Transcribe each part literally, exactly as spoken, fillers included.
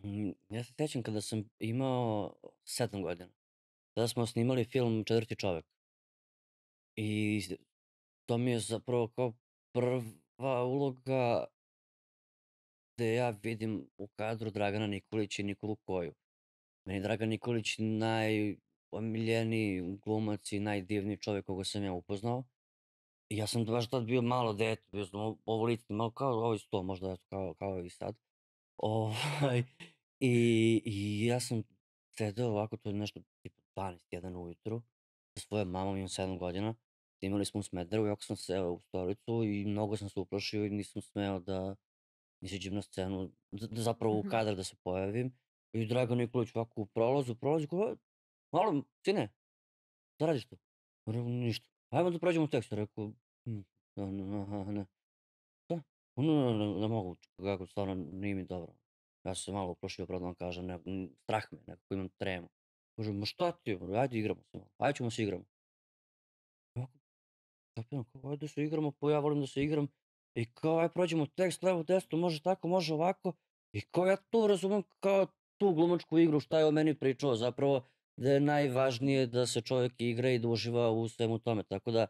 Mm, ja se sećam kada sam imao sedam godina. Tada smo snimali film „Četvrti čovek“ i s to mi je zapravo kao prva uloga gde ja vidim u kadru Dragana Nikolića i Nikolu Koju. Meni je Dragan Nikolić najomiljeniji glumac i najdivniji čovek koga sam ja upoznao i ja sam baš tad bio malo dete, bio sam o ovoliki, malo kao ovaj sto možda eto kao kao i sad. Ovaj, i i ja sam sedeo ovako, to je nešto tipa dvanaest, jedan ujutru sa svojom mamom, imam sedam godina. Snimali smo u Smederevu, jako sam seo u stolicu i mnogo sam se uplašio i nisam smeo da izađem na scenu, da da zapravo u Mhm. kadar da se pojavim. I Dragan Nikolić ovako u prolazu prolazi kao: „E, malo sine, šta radiš tu?“ Rekao: „Ništa.“ „Ajmo da pređemo u tekst.“ Rekao: „Hm, aha, ne.“ „Šta?“ „Ne, ne, ne, ne mogu, kako stvarno nije mi dobro.“ Ja sam se malo uplašio, pravo da vam kažem, ne, m, strah me, nekako imam tremu. Kaže: „Ma šta ti bre, ajde igramo se malo, ajde ćemo da se igramo.“ Ovako kapiram kao ajde da se igramo, pa ja volim da se igram i kao ajde prođemo tekst levo, desno, može tako, može ovako i kao ja tu razumem kao tu glumačku igru šta je on meni pričao zapravo da je najvažnije da se čovjek igra i da uživa u svemu tome. Tako da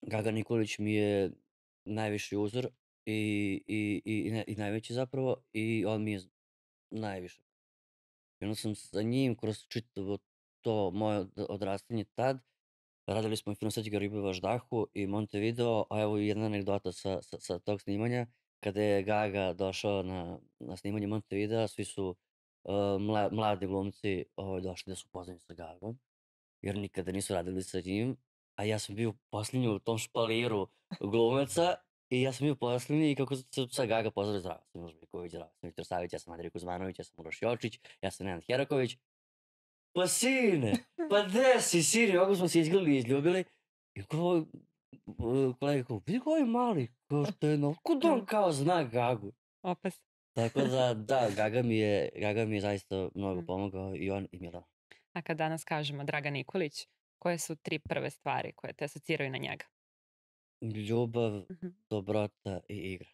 Gaga Nikolić mi je najviši uzor i i i i ne i najveći zapravo i on mi je z najviše. I onda sam sa njim kroz čitavo to moje od odrastanje tad, radili smo i film „Srećka ribe u Važdahu“ i Montevideo, a evo i jedna anegdota sa sa sa tog snimanja. Kada je Gaga došao na na snimanje Montevidea, svi su, uh, mla mladi glumci, ovaj, došli da se upoznaju sa Gagom, jer nikada nisu radili sa njim, a ja sam bio poslednji u tom špaliru glumaca i ja sam bio poslednji i kako se sad Gaga pozdravlja: „Zdravo, ja sam Miloš Biković, zdravo, ja sam Viktor Savić, ja sam Andrej Kuzmanović, ja sam Uroš Jočić, ja sam Nenad Heraković.“ „Pa sine, pa gde si sine?“ Ovako smo se izgrlili i izljubili i kao, uh, kolega kao: „Vidi ga ovaj mali, kao što je nov, otkud on Da, kao zna Gagu?“ opis. Tako da, da, Gaga mi je Gaga mi je zaista mnogo Mm. pomogao i on i Milana. A kad danas kažemo Dragan Nikolić, koje su tri prve stvari koje te asociraju na njega? Ljubav, Mhm. dobrota i igra.